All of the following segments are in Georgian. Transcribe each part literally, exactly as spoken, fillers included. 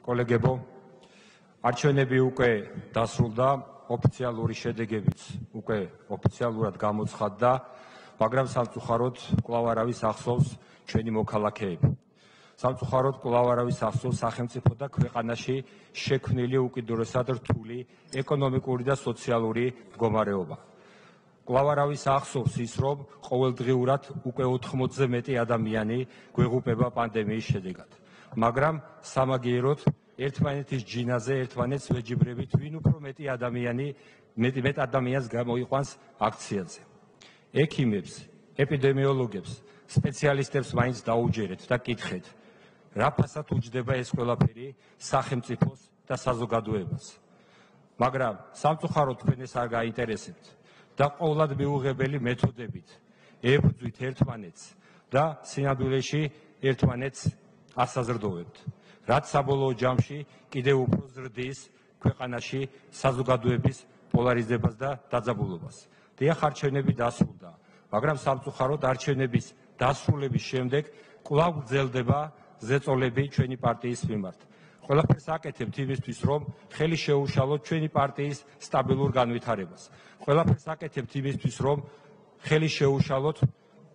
კოლეგებო, არჩევნები უკვე დასრულდა, ოფიციალური შედეგებიც უკვე ოფიციალურად გამოცხადდა, მაგრამ სამწუხაროდ კვლავ არავის ახსოვს ჩვენი მოქალაქეები. სამწუხაროდ კვლავ არავის ახსოვს სახელმწიფო და ქვეყანაში შექმნილი უკიდურესად რთული ეკონომიკური და სოციალური მდგომარეობა. კვლავ არავის ახსოვს ის, რომ ყოველდღიურად უკვე ოთხმოცზე მეტი ადამიანი გვეღუპება პანდემიის შედეგად. მაგრამ სამაგიეროდ ერთმანეთის ჯინაზე, ერთმანეთს ვეჯიბრებით, ვინ უფრო მეტი ადამიანი, მეტი მეტ ადამიანს გამოიყვანს აქციაზე. ექიმებს, ეპიდემიოლოგებს, სპეციალისტებს მაინც დაუჯერეთ და კითხეთ, რა ფასად უჯდება ეს ყველაფერი სახელმწიფოს და საზოგადოებას. მაგრამ სამწუხაროდ თქვენ ეს არ გაინტერესებთ და ყოვლად მიუღებელი მეთოდებით ებრძვით ერთმანეთს და სინამდვილეში ერთმანეთს ასაზრდოვებთ, რაც საბოლოო ჯამში კიდევ უფრო ზრდის ქვეყანაში საზოგადოების პოლარიზებას და დაძაბულობას. დიახ, არჩევნები დასრულდა, მაგრამ სამწუხაროდ არჩევნების დასრულების შემდეგ კვლავ გრძელდება ზეწოლები ჩვენი პარტიის მიმართ. ყველაფერს აკეთებთ იმისთვის, რომ ხელი შეუშალოთ ჩვენი პარტიის სტაბილურ განვითარებას. ყველაფერს აკეთებთ იმისთვის, რომ ხელი შეუშალოთ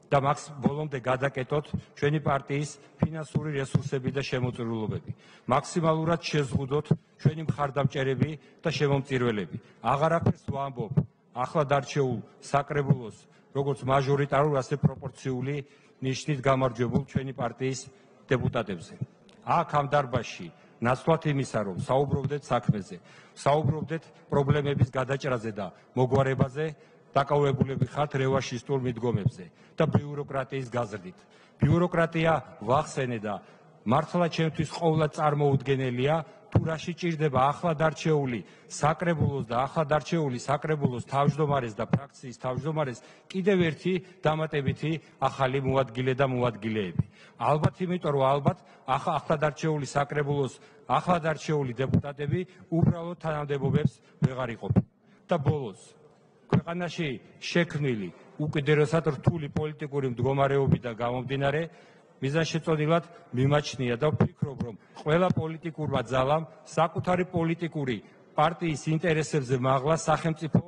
და მაქს ბოლომდე გადაკეტოთ ჩვენი პარტიის ფინანსური რესურსები და შემოწირულობები. მაქსიმალურად შეზღუდოთ ჩვენი მხარდამჭერები და შემომწირველები. აღარაფერს ვამბობ ახლად არჩეულ საკრებულოს, როგორც მაჟორიტარულ, ასე პროპორციული ნიშნით გამარჯვებულ ჩვენი პარტიის დეპუტატებზე. აქ ამ დარბაზში ნაცვლად იმისა, რომ საუბრობდეთ საქმეზე, საუბრობდეთ პრობლემების გადაჭრაზე და მოგვარებაზე, დაკავებულები ხართ რევანშისტულ მიდგომებზე და ბიუროკრატიის გაზრდით. ბიუროკრატია ვახსენე და მართლა ჩემთვის ყოვლად წარმოუდგენელია, თუ რაში ჭირდება ახლად არჩეული საკრებულოს და ახლად არჩეული საკრებულოს თავმჯდომარეს და ფრაქციის თავმჯდომარეს კიდევ ერთი დამატებითი ახალი მოადგილე და მოადგილეები. ალბათ იმიტომ, რომ ალბათ ახლად არჩეული საკრებულოს ახლად არჩეული დეპუტატები უბრალოდ თანამდებობებს ვეღარ იყოფენ. და ბოლოს ქვეყანაში შექმნილი უკიდურესად რთული პოლიტიკური მდგომარეობიდან გამომდინარე, მიზანშეწონილად მიმაჩნია და ვფიქრობ, რომ ყველა პოლიტიკურმა ძალამ საკუთარი პოლიტიკური პარტიის ინტერესებზე მაღლა სახელმწიფო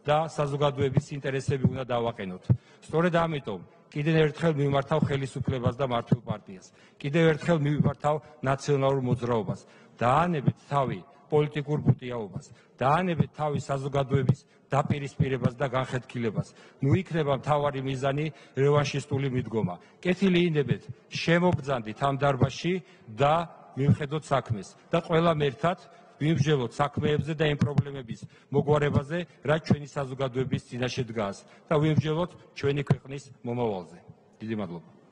და საზოგადოების ინტერესები უნდა დავაყენოთ. სწორედ ამიტომ კიდევ ერთხელ მიმართავ ხელისუფლებას და მართლ პარტიას. კიდევ ერთხელ მიმართავ ნაციონალურ მოძრაობას. დაანებეთ თავი პოლიტიკურ ბუტიაობას, დაანებეთ თავი საზოგადოების დაპირისპირებას და განხეთქილებას. ნუ იქნება მთავარი მიზანი რევანშისტული მიდგომა. კეთილი ინებეთ, შემობრძანდით ამ დარბაზში და მივხედოთ საქმეს და ყველამ ერთად ვიმსჯელოთ საქმეებზე და იმ პრობლემების მოგვარებაზე, რაც ჩვენი საზოგადოების წინაშე დგას და ვიმსჯელოთ ჩვენი ქვეყნის მომავალზე. დიდი მადლობა.